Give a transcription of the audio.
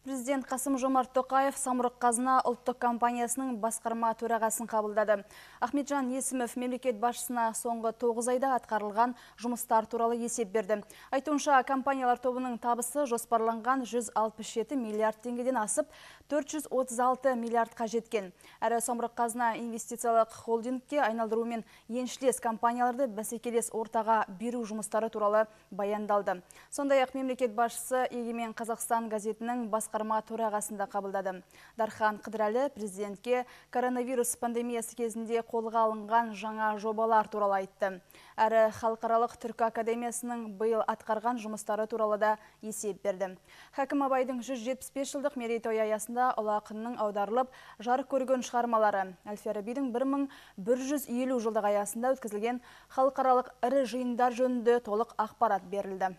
Президент Қасым-Жомарт Тоқаев Самұрық-Қазына ұлттық компаниясының басқарма төрағасын қабылдады. Ахметжан Есімов мемлекет басшысына соңғы 9 айда атқарылған жұмыстар туралы есеп берді. Айтуынша, компаниялар тобының табысы жоспарланған 167 миллиард теңгеден асып, 436 миллиардқа жеткен. Әрі Самұрық-Қазына инвестициялық холдингке айналдырумен еншілес компанияларды бәсекелес ортаға беру жұмыстары туралы баяндалды. Сондай-ақ мемлекет басшысы Егемен Қазақстан газетінің басқарма төрағасында қабылдады. Дархан Қыдырәлі президентке коронавирус пандемиясы кезінде қолға алынған жаңа жобалар туралы айтты. Әрі халықаралық түркі академиясының биыл атқарған жұмыстары туралы да есеп берді. Хакім Абайдың 175 жылдық мерейтойы аясында ұлы ақынның аударылып жарық көрген шығармалары, Әл-Фарабидің 1150 жылдық аясында өткізілген халықаралық ірі жиындар жөнінде толық ақпарат берілді.